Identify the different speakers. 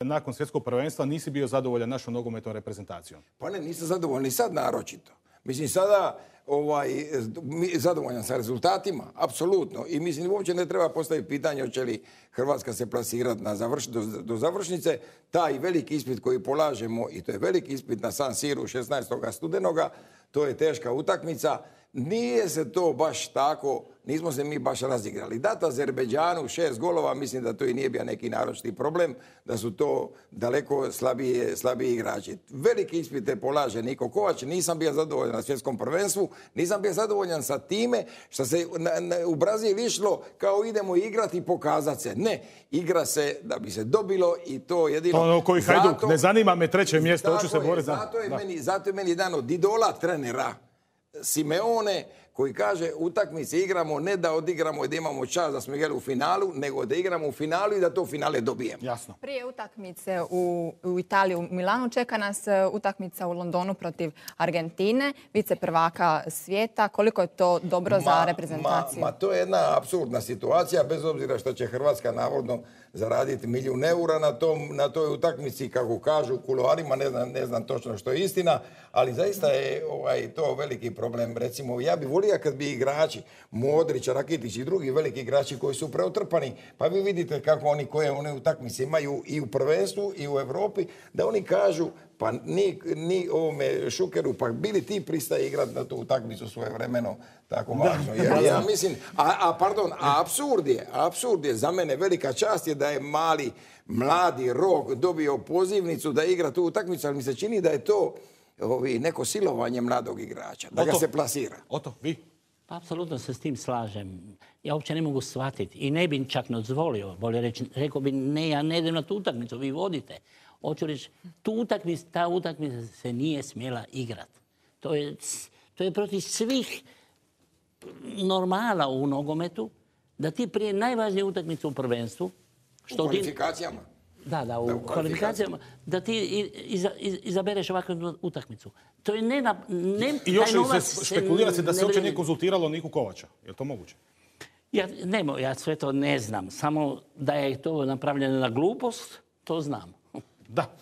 Speaker 1: nakon svjetskog prvenstva nisi bio zadovoljan našom nogometnom reprezentacijom.
Speaker 2: Pa ne, nisam zadovoljan, ni sad naročito. Mislim, sada zadovoljan sa rezultatima, apsolutno. I mislim, uopće ne treba postaviti pitanje hoće li Hrvatska se plasirati do završnice. Taj veliki ispit koji polažemo, i to je veliki ispit na San Siru 16. studenoga, to je teška utakmica. Nije se to baš tako, nismo se mi baš razigrali. Dat Azerbejdžanu 6 golova, mislim da to i nije bio neki naročiti problem, da su to daleko slabiji igrači. Veliki ispite polaže Niko Kovač, nisam bio zadovoljan na svjetskom prvenstvu, nisam bio zadovoljan sa time što se u Brazil išlo kao idemo igrati i pokazati se. Ne, igra se da bi se dobilo i to jedino...
Speaker 1: To ono koji Hajduk, ne zanima me treće mjesto, hoću se boriti za...
Speaker 2: Zato je meni jedan od idola trenera Simeone, koji kaže utakmice igramo ne da odigramo i da imamo čast da smo igrali u finalu, nego da igramo u finalu i da to finale dobijemo.
Speaker 1: Jasno.
Speaker 3: Prije utakmice u Italiji, u Milanu, čeka nas utakmica u Londonu protiv Argentine, vice prvaka svijeta. Koliko je to dobro za reprezentaciju?
Speaker 2: To je jedna apsurdna situacija, bez obzira što će Hrvatska navodno zaraditi €1.000.000 na toj utakmici, kako kažu u kuloarima, ne znam točno što je istina, ali zaista je to veliki problem. Recimo, ja bih volio kad bi igrači, Modrić, Rakitić i drugi veliki igrači koji su preotrpani, pa vi vidite kako oni koje one utakmice imaju i u prvenstvu i u Europi, da oni kažu pa ni ovome Šukeru, pa bili ti pristaje igrati na tu utakmicu svojevremeno tako važno. Jer ja mislim, apsurd je, za mene velika čast je da je mladi Rok dobio pozivnicu da igra tu utakmicu, ali mi se čini da je to neko silovanje mladog igrača, da ga se plasira.
Speaker 1: Oto, vi?
Speaker 4: Pa, apsolutno se s tim slažem. Ja uopće ne mogu shvatiti i ne bi čak dozvolio, bolje reći, rekao bi ne, ja ne idem na tu utakmicu, vi vodite. Hoću reći, ta utakmica se nije smjela igrati. To je protiv svih normala u nogometu, da ti prije najvažnije utakmice u prvenstvu...
Speaker 2: U kvalifikacijama.
Speaker 4: Da, u kvalifikacijama, da ti izabereš ovakvu utakmicu. To je
Speaker 1: I još se špekulira se da se uopće nije konzultiralo Niku Kovača. Je li to moguće?
Speaker 4: Ja sve to ne znam. Samo da je to napravljeno na glupost, to znam.
Speaker 1: Da.